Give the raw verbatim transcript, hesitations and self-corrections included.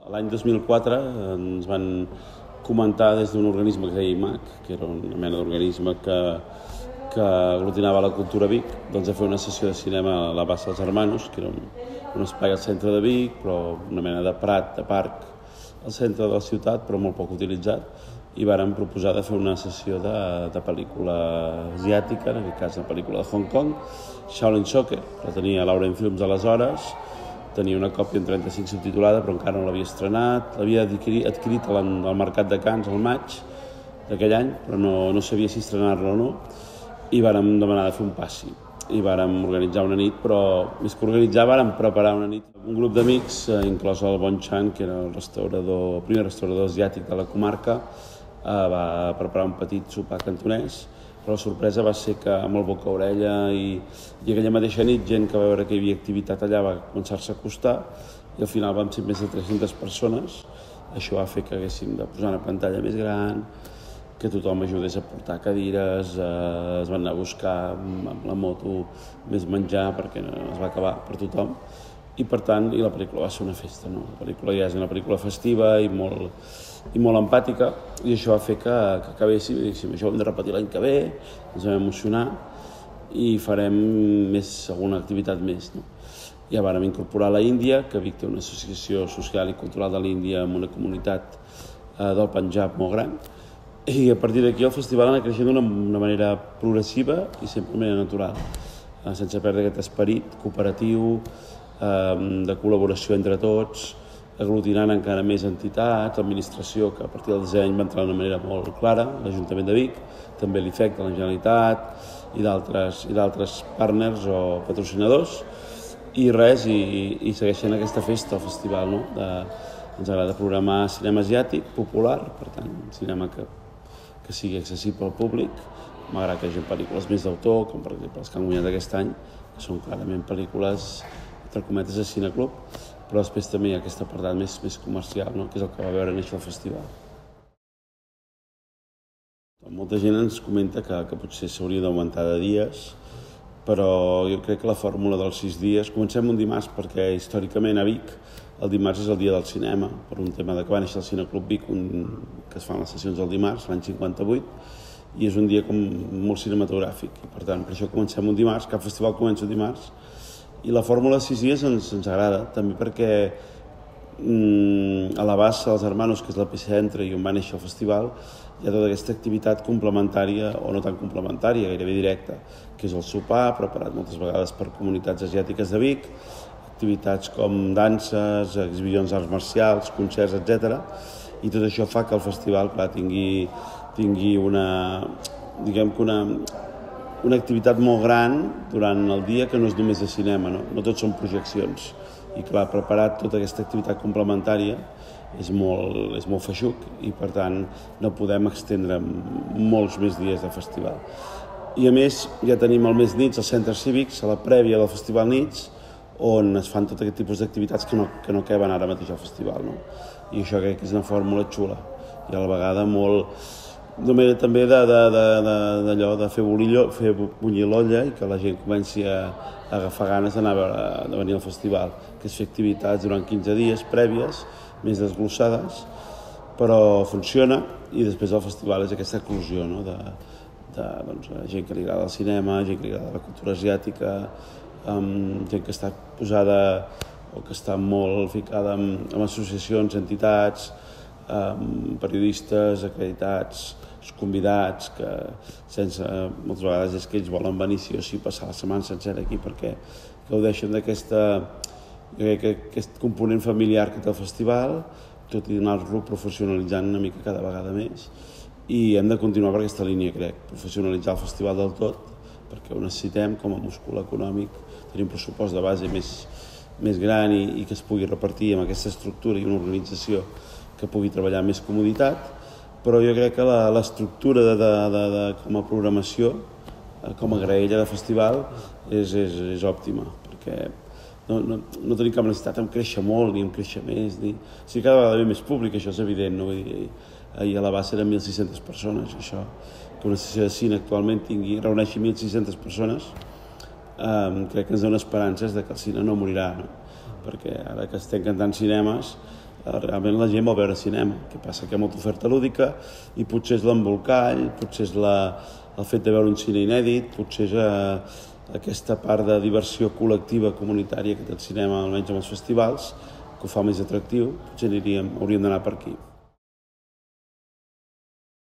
L'any dos mil quatre ens van comentar des d'un organisme que es deia I M A C, que era una mena d'organisme que, que aglutinava la cultura a Vic, doncs a fer una sessió de cinema a la Bassa dels Hermanos, que era un, un espai al centre de Vic, però una mena de prat, de parc, al centre de la ciutat, però molt poc utilitzat, i vàrem proposar de fer una sessió de, de pel·lícula asiàtica, en aquest cas una pel·lícula de Hong Kong, Shaolin Soccer, la tenia Lauren Films aleshores, tenia una còpia en trenta-cinc subtitulada, però encara no l'havia estrenat, l'havia adquirit, adquirit al, al Mercat de Canes al maig d'aquell any, però no, no sabia si estrenar-la o no, i vàrem demanar de fer un passi. I vàrem organitzar una nit, però més que organitzar vàrem preparar una nit. Un grup d'amics, eh, inclòs el Bon Chan, que era el restaurador, el primer restaurador asiàtic de la comarca, eh, va preparar un petit sopar cantonès, però la sorpresa va ser que amb el boca-orella i, i aquella mateixa nit gent que va veure que hi havia activitat allà va començar-se a acostar i al final vam ser més de tres-centes persones. Això va fer que haguéssim de posar una pantalla més gran, que tothom ajudés a portar cadires, eh, es van anar a buscar amb la moto més menjar perquè es va acabar per tothom. I per tant, i la pel·lícula va ser una festa, no? La pel·lícula ja és una pel·lícula festiva i molt, i molt empàtica, i això va fer que, que acabéssim i diguéssim, això ho hem de repetir l'any que ve, ens vam emocionar i farem més, alguna activitat més, no? Ja vàrem incorporar la Índia, que Vic té una associació social i cultural de l'Índia amb una comunitat eh, del Panjab molt gran, i a partir d'aquí el festival ha anat creixent d'una manera progressiva i sempre d'una manera natural, eh, sense perdre aquest esperit cooperatiu, de col·laboració entre tots, aglutinant encara més entitats, l'administració, que a partir del disseny va entrar d'una manera molt clara, l'Ajuntament de Vic, també l'I F E C de la Generalitat i d'altres i d'altres partners o patrocinadors, i res, i, i segueixen aquesta festa, el festival, no? De, ens agrada programar cinema asiàtic, popular, per tant, cinema que, que sigui accessible al públic. M'agrada que hi hagi pel·lícules més d'autor, com per exemple les que han guanyat aquest any, que són clarament pel·lícules entre cometes de cineclub, però després també hi ha aquest apartat més, més comercial, no? Que és el que va veure néixer el festival. Molta gent ens comenta que, que potser s'hauria d'augmentar de dies, però jo crec que la fórmula dels sis dies... Comencem un dimarts perquè històricament a Vic el dimarts és el dia del cinema, per un tema de que va néixer el Cineclub Vic, un, que es fan les sessions el dimarts, l'any cinquanta-vuit, i és un dia com molt cinematogràfic. I per tant, per això comencem un dimarts, cap festival comença un dimarts, i la fórmula de sis dies ens, ens agrada, també perquè mm, a la Bassa dels Hermanos, que és l'epicentre i on va néixer el festival, hi ha tota aquesta activitat complementària, o no tan complementària, gairebé directa, que és el sopar, preparat moltes vegades per comunitats asiàtiques de Vic, activitats com danses, exhibicions d'arts marcials, concerts, etcètera. I tot això fa que el festival, clar, tingui, tingui una, diguem que una, una activitat molt gran durant el dia que no és només de cinema, no? No tot són projeccions. I clar, preparar tota aquesta activitat complementària és molt, és molt feixuc i per tant no podem extendre molts més dies de festival. I a més ja tenim al mes nits els centres cívics, a la prèvia del festival nits, on es fan tot aquest tipus d'activitats que no, que no queben ara mateix al festival, no? I això crec que és una fórmula xula i a la vegada molt... Només també d'allò de fer bullir, fer bullir l'olla i que la gent comenci a, a agafar ganes d'anar a veure, de venir al festival, que és fer activitats durant quinze dies prèvies, més desglossades, però funciona i després el festival és aquesta eclosió, no? de, de doncs, gent que li agrada el cinema, gent que li agrada la cultura asiàtica, um, gent que està posada o que està molt ficada en, en associacions, entitats, um, periodistes acreditats, convidats, que sense, moltes vegades és que ells volen venir sí o sí passar la setmana sencera aquí perquè gaudeixen d'aquesta aquest component familiar que té el festival, tot i anar-lo professionalitzant una mica cada vegada més. I hem de continuar per aquesta línia, crec, professionalitzar el festival del tot, perquè ho necessitem com a múscul econòmic, tenir un pressupost de base més, més gran i, i que es pugui repartir amb aquesta estructura i una organització que pugui treballar amb més comoditat, però jo crec que l'estructura de, de, de, de, com a programació, com a graella de festival, és, és, és òptima, perquè no, no, no tenim cap necessitat en créixer molt ni en créixer més. Ni... O sigui, cada vegada ve més públic, això és evident, no? Vull dir, ahir a la base eren mil sis-centes persones, això, que una sessió de cine actualment tingui, reuneixi mil sis-centes persones, eh, crec que ens dona esperances de que el cine no morirà, no? Perquè ara que estem cantant cinemes, realment la gent vol veure cinema. El que passa que hi ha molta oferta lúdica i potser és l'embolcall, potser és la, el fet de veure un cine inèdit, potser és eh, aquesta part de diversió col·lectiva comunitària que té el cinema, almenys amb els festivals, que ho fa més atractiu. Potser aniríem, hauríem d'anar per aquí.